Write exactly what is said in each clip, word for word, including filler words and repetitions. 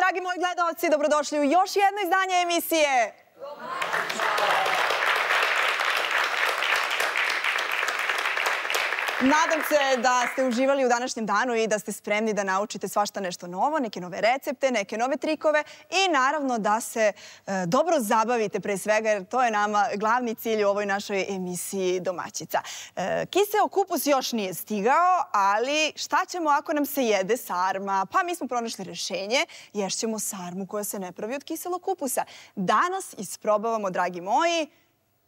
dragi moji gledalci, dobrodošli u još jedno izdanje emisije. Nadam se da ste uživali u današnjem danu i da ste spremni da naučite svašta nešto novo, neke nove recepte, neke nove trikove i naravno da se e, dobro zabavite pre svega, jer to je nama glavni cilj u ovoj našoj emisiji Domaćica. E, kiseo kupus još nije stigao, ali šta ćemo ako nam se jede sarma? Pa mi smo pronašli rešenje, ješćemo sarmu koja se ne pravi od kiselog kupusa. Danas isprobavamo, dragi moji,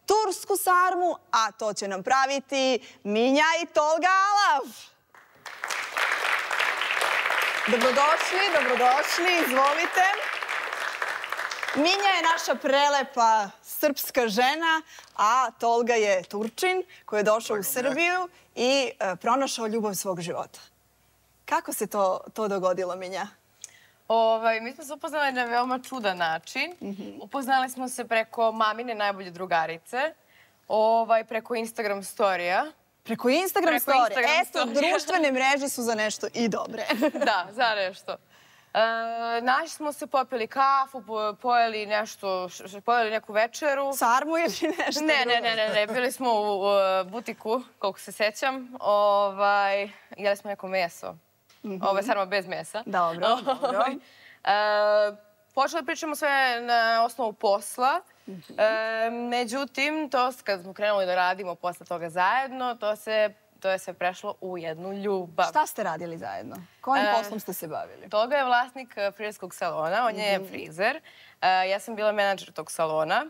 tursku sarmu, a to će nam praviti Minja i Tolga Alav. Dobrodošli, dobrodošli, izvolite. Minja je naša prelepa srpska žena, a Tolga je Turčin koji je došao u Srbiju i pronašao ljubav svog života. Kako se to, to dogodilo, Minja? Ovaj, mi smo se upoznali na veoma čudan način. Mm-hmm. Upoznali smo se preko mamine najbolje drugarice, ovaj, preko Instagram storija. Preko Instagram preko storija? Instagram Eto, storija. društvene mreže su za nešto i dobre. Da, za nešto. E, naši smo se, popili kafu, pojeli nešto, pojeli neku večeru. Sarmu ili nešto ne, drugo? Ne, ne, ne, ne. Bili smo u, u butiku, koliko se sećam. Ovaj, jeli smo neko meso. Mm-hmm. Ovo je sarma bez mesa. Dobro, dobro. E, počeli pričamo sve na osnovu posla. Mm-hmm. e, međutim, to kad smo krenuli da radimo posle toga zajedno, to, se, to je sve prešlo u jednu ljubav. Šta ste radili zajedno? Kojim e, poslom ste se bavili? Toga je vlasnik frizerskog salona, on je mm-hmm. frizer. E, ja sam bila menadžer tog salona.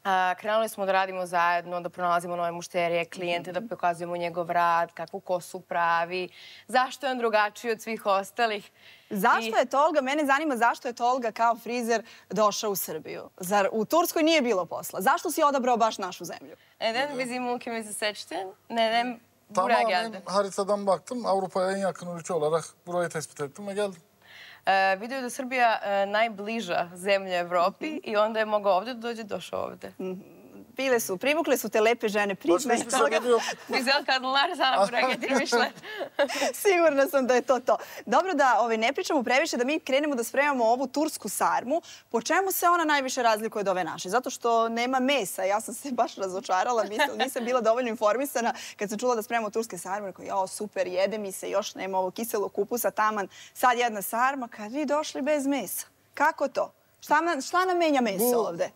Uh, krenuli smo da radimo zajedno, da pronalazimo nove mušterije, klijente, mm-hmm. da pokazujemo njegov rad, kakvu kosu pravi, zašto je on drugačiji od svih ostalih. Zašto I... je Tolga, mene zanima zašto je Tolga kao frizer došao u Srbiju? Zar u Turskoj nije bilo posla? Zašto si odabrao baş našu zemlju? Neden bizim ülkemizi seçtin? Neden buraya geldin? Tamamen haritadan baktım. Avrupa'ya en yakın ülke olarak burayı tespit ettim ve geldim. Uh, vidio je da Srbija uh, najbliža zemlja Evropi mm-hmm. i onda je mogao ovdje da dođe, došao ovdje. Mm-hmm. Bile su, privukle su te lepe žene prizme. Güzel kadınlar sana buraya getirmişler. Sigurna sam da je to to. Dobro da ovaj, ne pričamo previše, da mi krenemo da spremamo ovu tursku sarmu. Po čemu se ona najviše razlikuje od ove naše? Zato što nema mesa. Ja sam se baš razočarala, nisam, nisam bila dovoljno informisana. Kad sam čula da spremamo turske sarme, rekao, jao, super, jede mi se, još nema ovog kiselog kupusa, taman, sad jedna sarma. Kad vi došli bez mesa? Kako to? Šta, šta nam menja meso ovde?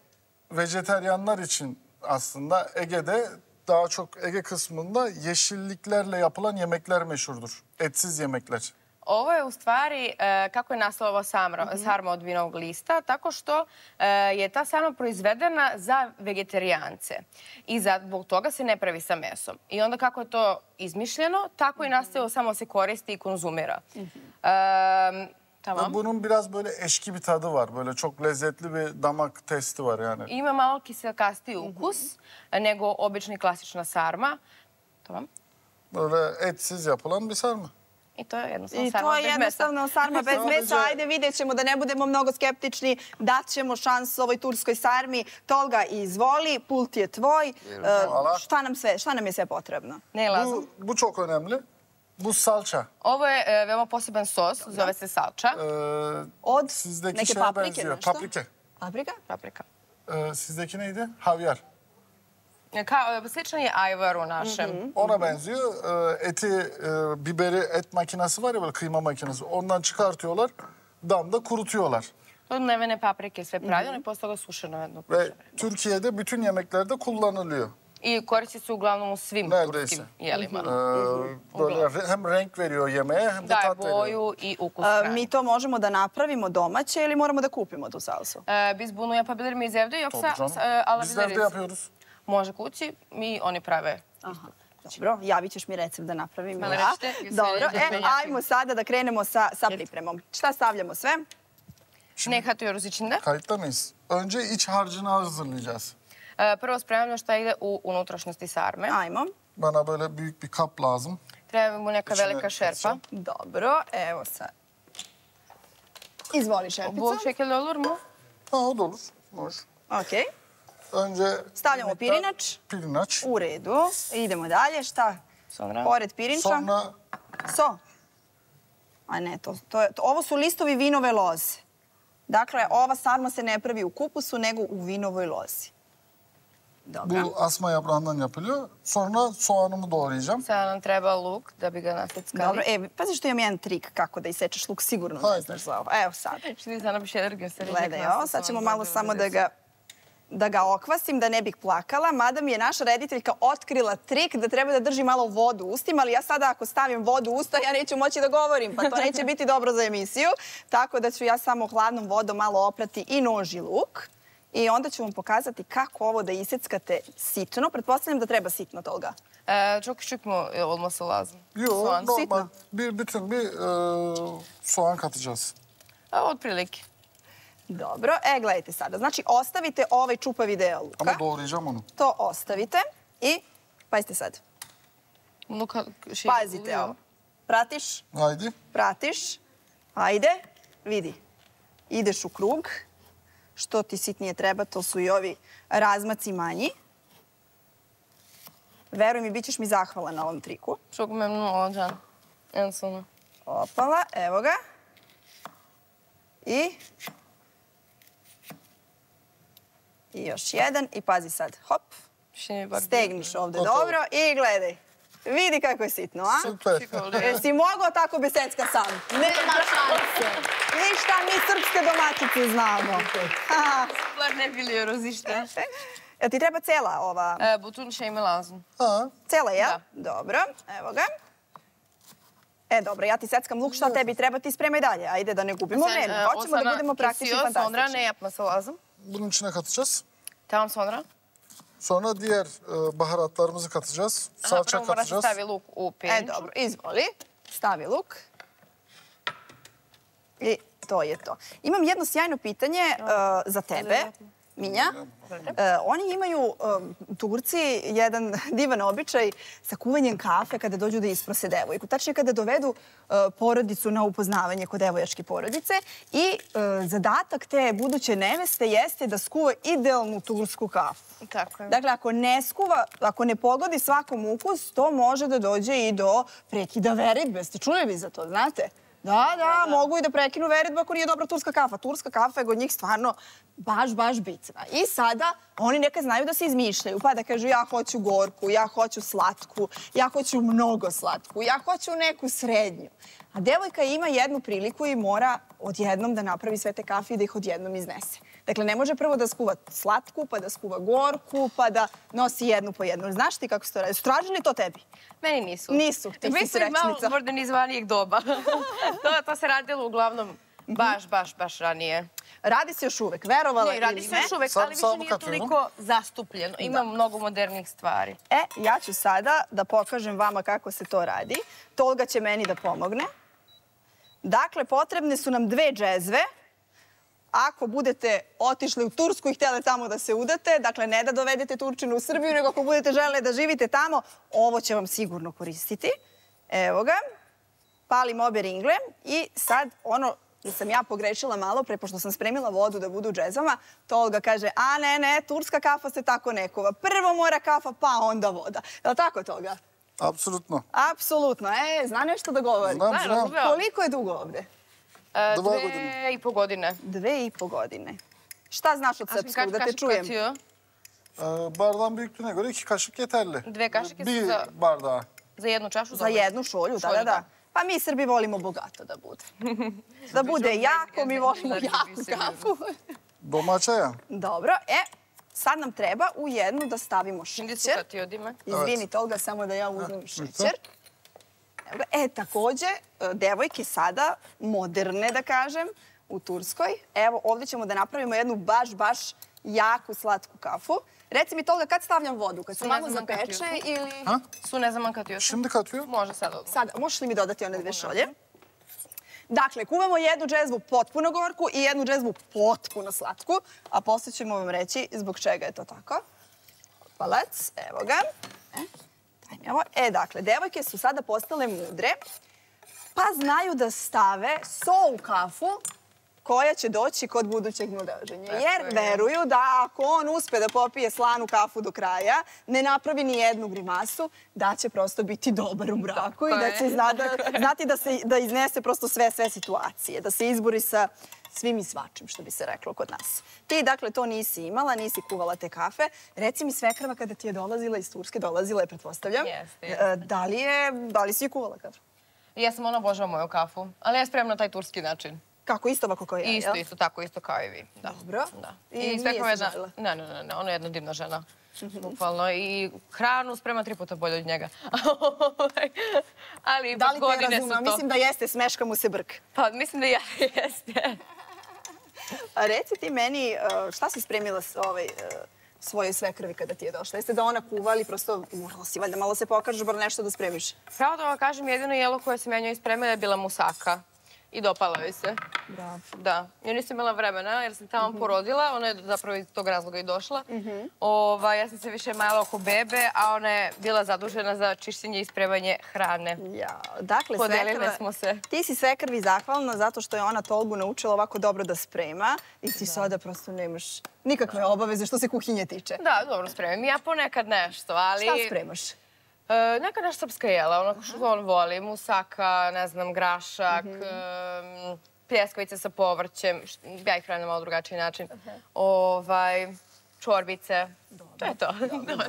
Vejeteryanlar için aslında Ege'de daha çok Ege kısmında yeşilliklerle yapılan yemekler meşhurdur. Etsiz yemekler. Ovo je u stvari, e, kako je nastala ova sarma, mm-hmm. sarma od vinovog lista, tako što e, je ta sarma proizvedena za vegetarijance. I zbog toga se ne pravi sa mesom. I onda kako je to izmišljeno, tako mm-hmm. i nastavilo samo se koristi i konzumira. Mm-hmm. e, Tamam. Ve bunun biraz böyle eşki bir tadı var. Böyle çok lezzetli bir damak testi var yani. Ima malo kiselkastiji ukus mm-hmm. nego obični klasična sarma. Tamam. Böyle etsiz yapılan bir sarma. I to je jednostavno I sarma to je bez jednostavno mesa. sarma bez mesa. Ajde, vidjet ćemo da ne budemo mnogo skeptični. Dat ćemo šansu ovoj turskoj sarmi. Tolga, izvoli, pult je tvoj. Uh, šta, nam sve, šta nam je sve potrebno? Ne lazım. Bu, bu çok önemli. Bu salça. Ovo je e, veoma poseban sos, Dobre. Zove se salça. Ee, Od sizdeki neke şeye paprike benziyor. nešto? Paprike. Paprika? Paprika. Ee, sizdeki neydi? Havyar. Ka, sličan je ajvaru našem. Mm-hmm. Ona benziyor. Ee, eti, e, biberi, et makinesi var ya böyle kıyma makinesi. Ondan çıkartıyorlar. Damda kurutuyorlar. Od mlevene paprike sve pravljeno i posle toga sušeno jedno. Ve Türkiye'de bütün yemeklerde kullanılıyor. I koristi se uglavnom u svim Neredeyse. turskim jelima. Ee, böyle hem renk veriyor yemeğe hem de Daje tat veriyor. boju i ukus hrane. Mi to možemo da napravimo domaće ili moramo da kupimo tu salsu? Ee, biz bunu yapabilir miyiz evde yoksa e, alabiliriz? Biz evde yapıyoruz. Može kući, mi oni prave. Aha. Dobro, javit ćeš mi recept da napravim Mene ja. rećete, Dobro, e, ajmo sada da krenemo sa, sa pripremom. Šta stavljamo sve? Ne katıyoruz içinde. Kayıtta mıyız? Önce iç harcını hazırlayacağız. Ee, prvo spremamo šta ide u unutrašnjosti sarme. Ajmo. Bana böyle büyük bir kap lazım. Treba mu neka İçine velika šerpa. Dobro, evo sad. Izvoli šerpicu. Bu şekilde olur mu? Ha, o da olur. Olur. Okej. Önce stavljamo pirinač. Pirinač. U redu. Idemo dalje. Šta? Sonra. Pored pirinča. Sonra. So. A ne, to, to je, to, ovo su listovi vinove loze. Dakle, ova sarma se ne pravi u kupusu, nego u vinovoj lozi. Dobro. Bu asma yaprağından yapılıyor. Sonra soğanımı doğrayacağım. Sada nam treba luk da bi ga naseckali. Dobro, e, pazi što imam jedan trik kako da isečeš luk, sigurno ne Hajde. znaš za ovo. Evo sad. Şimdi sana bir şeyler göstereceğim. Gledaj ovo, sad ćemo malo samo da ga, da ga okvasim, da ne bih plakala, mada mi je naša rediteljka otkrila trik da treba da drži malo vodu u ustima, ali ja sada ako stavim vodu u usta, ja neću moći da govorim, pa to neće biti dobro za emisiju, tako da ću ja samo hladnom vodom malo oprati i nož i luk. I onda ću vam pokazati kako ovo da iseckate sitno. Pretpostavljam da treba sitno toga. Ee, çok küçük mü olması lazım? Yok, Soğan. normal. Sitno. Bir bütün bir e, soğan katacağız. A, otprilike. Dobro, e, gledajte sada. Znači, ostavite ovaj čupavi deo luka. Ama doğrayacağım onu. To ostavite i, pazite sad, Bunu ka- şey pazite oluyor. ovo. Pratiš, Haydi. pratiš, ajde, vidi. Ideš u krug, što ti sitnije treba, to su i ovi razmaci manji. Veruj mi, bit ćeš mi zahvala na ovom triku. Çok memnun olacağım en sonu. Opala, evo ga. I... I još jedan. I pazi sad, hop. Şimdi bak. Stegniš ovde Gotovo. dobro i gledaj. Vidi kako je sitno, a? Süper. Küçük oluyor. Jesi mogao tako bez secka sam? Nema šanse. Ništa mi srpske domaćice znamo. Ha. Bunlar ne biliyoruz işte. Jel ti treba cela ova? Ee, bütün şey mi lazım? Ha, Cela, jel? Da. Dobro, evo ga. E, dobro, ja ti seckam luk, šta tebi treba, ti spremaj dalje. Ajde, da ne gubimo Sen, vreme. e, Hoćemo o da sana budemo praktični kesiyor, sonra ne fantastični. yapması lazım? bunun içine katacağız. Tamam, sonra? Sonra diğer e, baharatlarımızı katacağız. Aha, Salça prvo mora se katacağız. stavi luk u E, pirinču. dobro, izvoli. Stavi luk. I to je to. Imam jedno sjajno pitanje uh, za tebe, Minja. Uh, oni imaju, uh, Turci, jedan divan običaj sa kuvanjem kafe kada dođu da isprose devojku. Tačnije kada dovedu uh, porodicu na upoznavanje kod devojačke porodice i uh, zadatak te buduće neveste jeste da skuva idealnu tursku kafu. Tako je. Dakle, ako ne skuva, ako ne pogodi svakom ukus, to može da dođe i do prekida veridbe. Ste čuli vi za to, znate? Da, da, mogu i da prekinu veridbu ako nije dobra turska kafa. Turska kafa je kod njih stvarno baš, baš bitna. I sada oni nekad znaju da se izmišljaju, pa da kažu ja hoću gorku, ja hoću slatku, ja hoću mnogo slatku, ja hoću neku srednju. A devojka ima jednu priliku i mora odjednom da napravi sve te kafe i da ih odjednom iznese. Dakle, ne može prvo da skuva slatku, pa da skuva gorku, pa da nosi jednu po jednu. Znaš ti kako se to radi? Su tražili to tebi? Meni nisu. Nisu, ti si Mi smo iz malo srećnica. modernizovanijeg doba. to, to se radilo uglavnom baš, baš, baš ranije. Radi se još uvek, verovala Ne, radi ili se ne. još uvek, Sad- ali više samo nije kad imamo. toliko zastupljeno. Ima mnogo modernih stvari. E, ja ću sada da pokažem vama kako se to radi. Tolga će meni da pomogne. Dakle, potrebne su nam dve džezve. Ako budete otišli u Tursku i htjeli tamo da se udate, dakle ne da dovedete Turčinu u Srbiju, nego ako budete želeli da živite tamo, ovo će vam sigurno koristiti. Evo ga. Palim obe ringle i sad ono da sam ja pogrešila malo pre, pošto sam spremila vodu da budu u džezvama, Tolga kaže, a ne, ne, turska kafa se tako ne kuva. Prvo mora kafa, pa onda voda. Je li tako, Tolga? Apsolutno. Apsolutno. E, zna nešto da govori. Znam, Da, znam. razumeo. Koliko je dugo ovde? E, Dva dve godine. i po godine. Dve i po godine. Šta znaš od A şimdi srpskog, kaç da te kaşık čujem? katıyor? E, bardağın büyüklüğüne göre iki kaşık yeterli. Dve kašike su Bir za, bardağa. za jednu čašu? Za dobro. jednu šolju, da, Šolju, da, da. da. Pa mi Srbi volimo bogato da bude. Da bude jako, mi volimo jaku kafu. Domaća ya. Dobro, e, sad nam treba u jednu da stavimo Şimdi su šećer. katıyor değil mi? Izvini, Tolga, samo da ja uzmem šećer. Evo ga. E, takođe, devojke sada, moderne da kažem, u Turskoj. Evo, ovdje ćemo da napravimo jednu baš, baš jaku slatku kafu. Reci mi, Tolga, kad stavljam vodu? Kad se Ne malo znam kad zapeče ju. ili... Ha? Su ne znam kad još. Şimdi katıyor. Može sad odmah. Sad, možeš li mi dodati one dve šolje? Dakle, kuvamo jednu džezvu potpuno gorku i jednu džezvu potpuno slatku, a posle ćemo vam reći zbog čega je to tako. Palac, evo ga. E, daj mi ovo. E, dakle, devojke su sada postale mudre, pa znaju da stave so u kafu koja će doći kod budućeg mladoženja. Jer veruju da ako on uspe da popije slanu kafu do kraja, ne napravi ni jednu grimasu, da će prosto biti dobar u braku i da će zna, da, znati da, se, da iznese prosto sve, sve situacije, da se izbori sa svim i svačim, što bi se reklo kod nas. Ti, dakle, to nisi imala, nisi kuvala te kafe. Reci mi, svekrva kada ti je dolazila iz Turske, dolazila je, pretpostavljam. Jeste, jeste. Da li je, da li si je kuvala kafu? Ja sam ona obožava moju kafu, ali ja spremam na taj turski način. Kako, isto ovako kao ja, jel? Isto, isto, tako, isto kao i vi. Da. Dobro. Da. I I nije svekrva se jedna... žalila? Ne, ne, ne, ne, ona je jedna divna žena. Bukvalno. I hranu sprema tri puta bolje od njega. Ali Da li te godine su razumem? to. Mislim da jeste, smeška mu se brk. Pa mislim da ja jeste. A reci ti meni, uh, šta si spremila s ovaj, uh, svojoj svekrvi kada ti je došla? Jeste da ona kuva ili prosto morala si valjda malo se pokažeš, bar nešto da spremiš? Pravo da vam kažem, jedino jelo koje sam ja njoj spremila je bila musaka. I dopala joj se. Bravo. Da. Ja nisam imala vremena jer sam tamo porodila. Ona je zapravo iz tog razloga i došla. Ova, ja sam se više majala oko bebe, a ona je bila zadužena za čišćenje i spremanje hrane. Ja, dakle, Podelile svekrva, smo se. ti si svekrvi zahvalna zato što je ona Tolgu naučila ovako dobro da sprema i ti sada prosto nemaš nikakve obaveze što se kuhinje tiče. Da, dobro spremim. Ja ponekad nešto, ali... Šta spremaš? E, neka naša srpska jela, ono što on voli. Musaka, ne znam, grašak, em, pljeskavice sa povrćem. št- Ja ih hranim na malo drugačiji način. Ovaj, čorbice. To je to.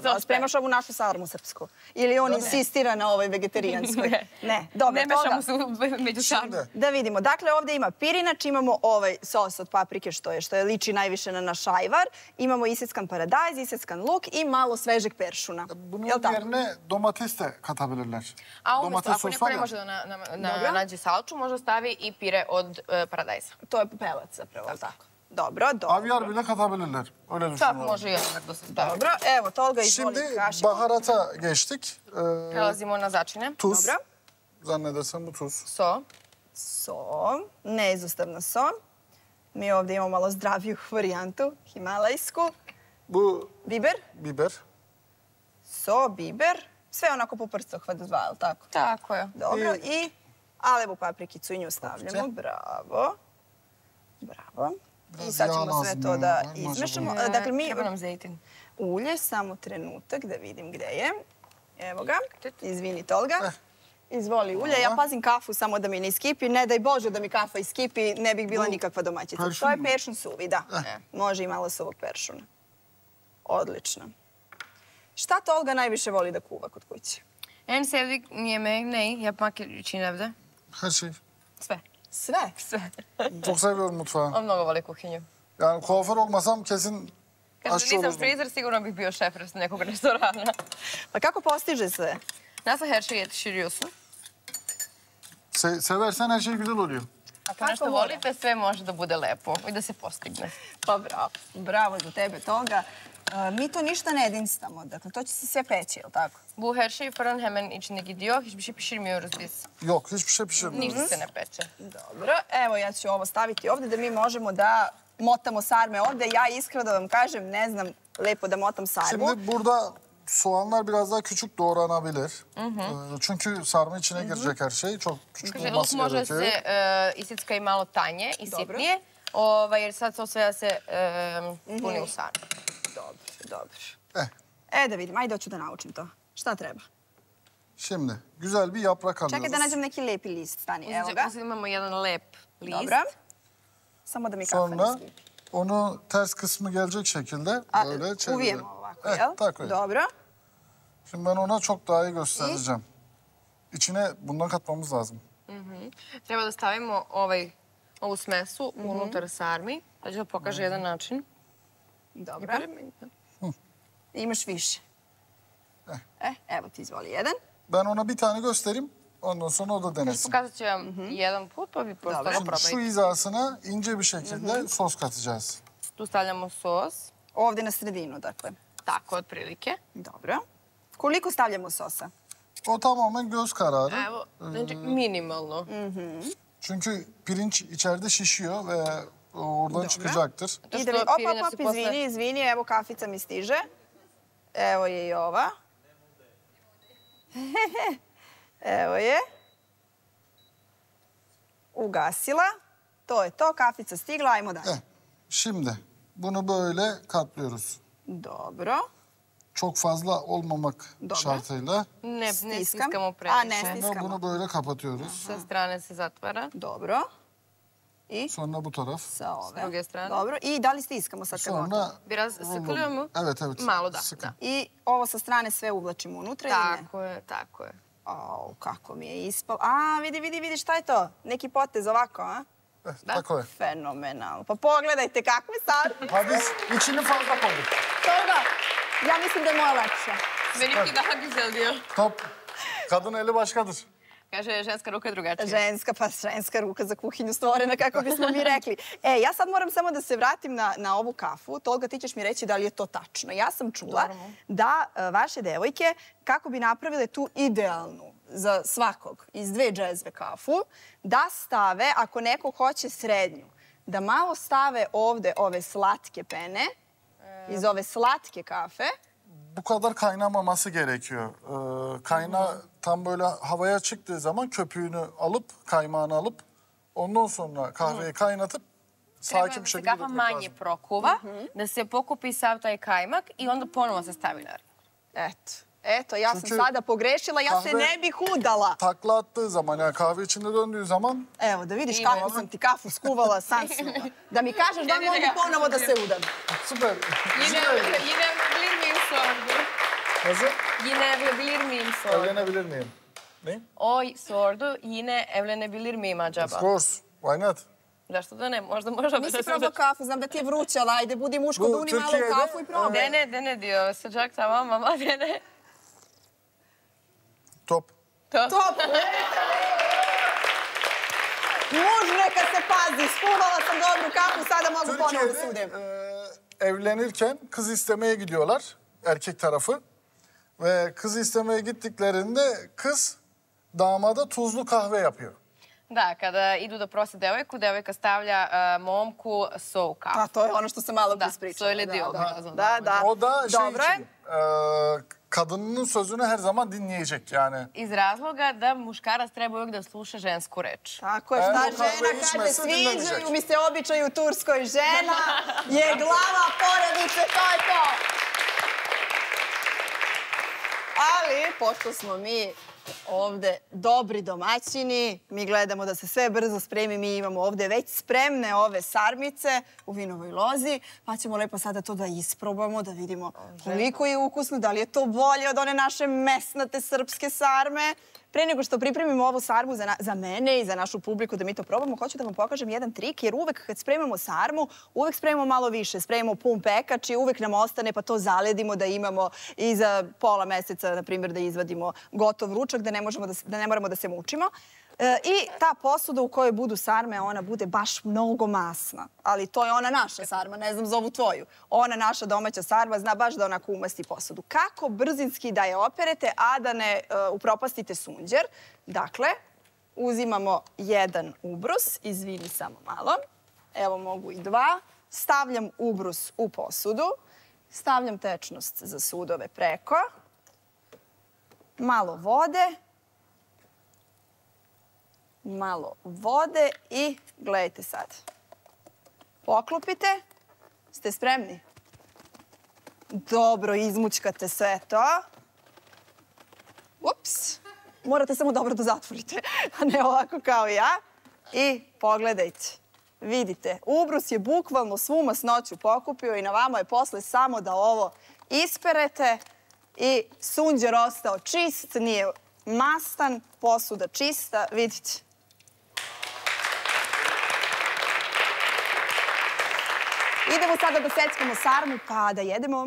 A spremaš ovu našu sarmu srpsku? Ili on insistira na ovoj vegetarijanskoj? Ne. Ne, dobro. Ne toga- mešamo se u- među sarmu. Da vidimo. Dakle, ovdje ima pirinač, imamo ovaj sos od paprike što je, što je liči najviše na naš ajvar. Imamo iseckan paradajz, iseckan luk i malo svežeg peršuna. Bunun Jel tako? yerine domates de katabilirler. A umjesto, Domates ako sos neko var ne ya. može da na, na, na, Dobro. nađe salču, može stavi i pire od e, paradajza. To je pelac zapravo, jel tako? Dobro, dobro. Avyar bile katabilirler. Öyle Tako düşünüyorum. može i odmah da se stavi. Dobro, evo, Tolga izvoli Şimdi kašiku. baharata geçtik. Ee, Prelazimo na začine. tuz. Dobro. Zannedersem bu tuz. So. So, neizostavno so. Mi ovdje imamo malo zdraviju varijantu, himalajsku. Bu Biber, biber. so, biber. Sve onako po prstohvatu dva, jel tako? Tako je. Dobro, i alevu paprikicu i nju stavljamo. Paprice. Bravo. Bravo. I Biraz sad ćemo yağ sve lazım to ya. da Var mı acaba? izmešamo. E, Dakle, mi Treba nam zejtin. ulje, samo trenutak da vidim gde je. Evo ga. Izvini, Tolga. Eh. Izvoli ulje. Ja Hvala. pazim kafu samo da mi ne iskipi. Ne daj Bože da mi kafa iskipi, ne bih bila Bu nikakva domaćica. peršun To je mu? peršun suvi, da. Eh. Može i malo suvog peršuna. Odlično. Šta Tolga najviše voli da kuva kod kuće? En sevdik yemeği ne? Yapmak için evde. Her şey. Sve. Sve. Sve. Çok seviyorum mutfağı. On mnogo voli kuhinju. Yani kuaför olmasam kesin Kaže, aşçı nisam olurdum. frizer, sigurno bih bio šef nekog restorana. Pa kako postiže sve? Nasıl her şeyi yetiştiriyorsun? Se- seversen her şey güzel oluyor. Ako nešto mora? volite, sve može da bude lepo i da se postigne. Pa bravo. Bravo za tebe Tolga. E, mi to ništa ne edinstamo. Dakle, to će se sve peći, jel tako? Bu her şey fırın hemen içinde gidiyor. Hiçbir şey pişirmiyoruz biz. Yok hiçbir şey pişirmiyoruz. Ništa se ne peče. Dobro. Evo, ja ću ovo staviti ovdje da mi možemo da motamo sarme ovdje. Ja iskreno da vam kažem, ne znam lepo da motam sarmu. Şimdi burada soğanlar biraz daha küçük doğranabilir. Ee, Çünkü sarma içine girecek her şey. Çok küçük Kaže, luk olması može gerekiyor. se e, isicka i malo tanje i Dobro. sitnije, ovaj, jer sad to sve da se e, puni u sarmu. Dobro, dobro. Eh, E da vidim, ajde hoću da naučim to. Šta treba? şimdi güzel bir yaprak alıyoruz. Čekaj da nađem neki lepi list. Stani, evo ga. Uzet imamo jedan lep list. Dobro. Samo da mi kafa ne Sonra skipi. onu ters kısmı gelecek şekilde A, böyle çevirelim. uvijemo ovako, Eh, jel? tako je. Dobro. Şimdi ben ona çok daha iyi göstereceğim. İçine bundan katmamız lazım. Treba da stavimo ovaj, ovu smesu unutar sarmi. Da ću da pokaže jedan način. Dobro. Imaš više. Eh. E, evo ti izvoli jedan. Ben ona bir tane göstereyim. Ondan sonra o da denesin. Pokazat ću vam jedan put, pa vi prosto Dobro. ga Şimdi şu probajte. hizasına ince bir şekilde sos katacağız. Tu stavljamo sos. Ovdje na sredinu, dakle. Tako, otprilike. Dobro. Koliko stavljamo sosa? O tamamen göz kararı. Evo, znači minimalno. Çünkü pirinç içeride şişiyor ve oradan çıkacaktır. Zato I da što vi... Op, pirinač op, se op, posle- izvini, izvini, evo kafica mi stiže. Evo je i ova. Evo je. Ugasila. To je to, kafica stigla, ajmo dalje. Eh, şimdi bunu böyle katlıyoruz. Dobro. Çok fazla olmamak Dobro. şartıyla. Ne, ne Stiskam. stiskamo A, previše. ne Sonra stiskamo. bunu böyle kapatıyoruz. Sa strane se zatvara. Dobro. I? Sonra bu taraf. Sa ove. S druge strane. Dobro. I da li stiskamo sad kad gotovo? Sonra... Biraz sıkılıyor Evet, evet. Malo da. Sıkı. I ovo sa strane sve uvlačimo unutra ili ne? Tako je, tako je. Au, kako mi je ispalo. A, vidi, vidi, vidi, šta je to? Neki potez ovako, a? Eh, tako je. Fenomenalno. Pa pogledajte kakve sad. Ha biz içini fazla koyduk. Toga, ja mislim da je moja lepša. Benimki daha güzel diyor. Top. Kadın eli başkadır. Kaže, ženska ruka je drugačija. Ženska, pa ženska ruka za kuhinju stvorena, kako bismo mi rekli. E, ja sad moram samo da se vratim na, na ovu kafu. Tolga, ti ćeš mi reći da li je to tačno. Ja sam čula Normalno. da e, vaše devojke, kako bi napravile tu idealnu za svakog iz dve džezve kafu, da stave, ako neko hoće srednju, da malo stave ovde ove slatke pene, iz ove slatke kafe. Bu kadar kaynamaması gerekiyor. Ee, kayna tam böyle havaya çıktığı zaman köpüğünü alıp, kaymağını alıp ondan sonra kahveyi kaynatıp sakin bir şekilde Treba da se kafa manje prokuva, da se pokupi sav taj kajmak i onda ponovo se stavi na. Eto. Eto, ja Çünkü sam sada pogrešila, ja se kahve- ne bih udala. Takla attığı zaman, yani kahve içinde döndüğü zaman Evo, da vidiš Ima. kako sam ti kafu skuvala, san snula. Da mi kažeš da Ne, ne, mogu ne. ponovo da se udam. süper. Yine, yine evlenebilir miyim sordu. Nasıl? Yine evlenebilir miyim sordu. Evlenebilir miyim? Ne? O sordu, yine evlenebilir miyim Of acaba? course. Why not? Zašto da ne? Možda možda Nisi probao kafu, znam da ti je vruća, ali ajde, budi muško, Bu duni malo Türkiye'de, kafu i probaj. Dene, dene diyor. Sıcak tamam ama dene. Top. To. Top! Muž neka se pazi, skuvala sam dobru kafu, sada mogu ponovo da se udem. Türkiye'de e, evlenirken kız istemeye gidiyorlar, erkek tarafı. Ve kız istemeye gittiklerinde kız damada tuzlu kahve yapıyor. Da, kada idu da prose devojku, devojka stavlja uh, momku so u kafu. A to je ono što sam malo Da, prispričala. söyledi o biraz da, ondan. da, da. O da şey Dobro je. için, e, kadının sözünü her zaman dinleyecek yani. Iz razloga da muškarac treba uvijek da sluša žensku reč. Tako je, Evo, šta kahve žena içme, kaže, sve sviđaju dinlemeyecek. mi se običaj u Turskoj. Žena je glava porodice, to je to. Ali, pošto smo mi ovde dobri domaćini, mi gledamo da se sve brzo spremi, mi imamo ovde već spremne ove sarmice u vinovoj lozi, pa ćemo lepo sada to da isprobamo, da vidimo koliko je ukusno, da li je to bolje od one naše mesnate srpske sarme. Pre nego što pripremimo ovu sarmu za, na, za mene i za našu publiku da mi to probamo, hoću da vam pokažem jedan trik, jer uvek kad spremamo sarmu, uvek spremamo malo više. Spremamo pun pekač i uvek nam ostane pa to zaledimo da imamo i za pola meseca, na primjer, da izvadimo gotov ručak, da ne, možemo da, se- da ne moramo da se mučimo. E, I ta posuda u kojoj budu sarme, ona bude baš mnogo masna. Ali to je ona naša sarma, ne znam za ovu tvoju. Ona naša domaća sarma zna baš da onako umasti posudu. Kako brzinski da je operete, a da ne e, upropastite sunđer? Dakle, uzimamo jedan ubrus, izvini samo malo. Evo mogu i dva. Stavljam ubrus u posudu. Stavljam tečnost za sudove preko. Malo vode. Malo vode i gledajte sad. Poklopite. Ste spremni? Dobro, izmućkate sve to. Ups. Morate samo dobro da zatvorite, a ne ovako kao ja. I pogledajte. Vidite, ubrus je bukvalno svu masnoću pokupio i na vama je posle samo da ovo isperete i sunđer ostao čist, nije mastan, posuda čista, vidite. Idemo sada da seckamo sarmu pa da jedemo.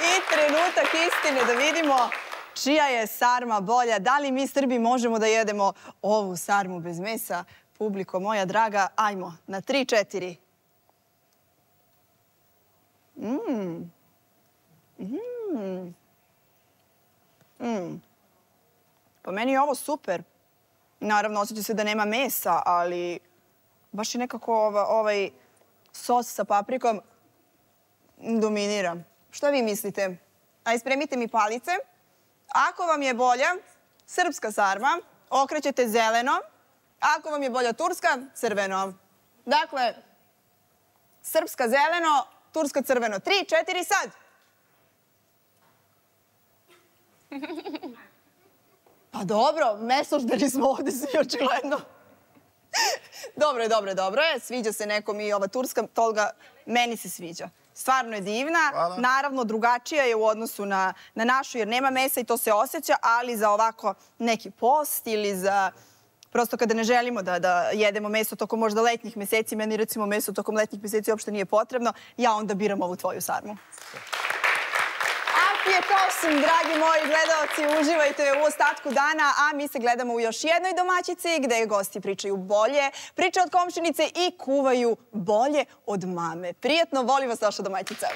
I trenutak istine da vidimo čija je sarma bolja. Da li mi Srbi možemo da jedemo ovu sarmu bez mesa? Publiko moja draga, ajmo na tri, četiri. Mmm. Mmm. Mmm. Po meni je ovo super. Naravno, osjeća se da nema mesa, ali baš je nekako ova, ovaj sos sa paprikom dominira. Šta vi mislite? Aj, spremite mi palice, Ako vam je bolja srpska sarma, okrećete zeleno. Ako vam je bolja turska, crveno. Dakle, srpska zeleno, turska crveno. Tri, četiri, sad! Pa dobro, mesožderi smo ovde svi očigledno. Dobro je, dobro je, dobro je. Sviđa se nekom i ova turska, toga meni se sviđa. Stvarno je divna. Hvala. Naravno, drugačija je u odnosu na, na našu, jer nema mesa i to se osjeća, ali za ovako neki post ili za... Prosto kada ne želimo da, da jedemo meso tokom možda letnjih meseci, meni recimo meso tokom letnjih meseci uopšte nije potrebno, ja onda biram ovu tvoju sarmu. Apjetosum, dragi moji gledalci, uživajte u ostatku dana, a mi se gledamo u još jednoj domaćici gde gosti pričaju bolje, pričaju od komšinice i kuvaju bolje od mame. Prijetno, volim vas, vaša domaćica.